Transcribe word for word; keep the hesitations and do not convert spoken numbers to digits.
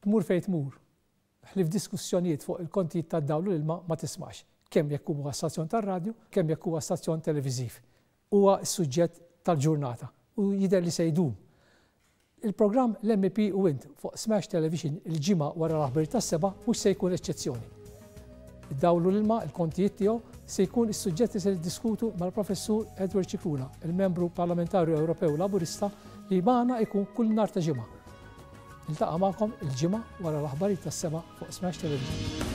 Tmur fejn tmur, ħlief diskussjonijiet fuq il-kontijiet tad-dawl u l-ilma ma tismax, kemm jekk huwa stazzjon tar-radju, kemm jekk huwa stazzjon televiżiv. Huwa s-suġġett tal-ġurnata u jidher li se jdum. Il-programm L-M E P u Int fuq Smash Television il-Ġimgħa wara l-aħbar tas-sebgħa mhux se jkun eċċezzjoni. Id-dawl u l-ilma, il-kontijiet tiegħu se jkun is-suġġetti se niddiskutu mal-Professur Edward Scicluna, il-membru parlamentari Ewropew Laburista li magħna ikun kull nhar ta' ġimgħa. Niltaqa' magħkom il-Ġimgħa wara l-aħbarijiet tas-sebgħa fuq Smash Television.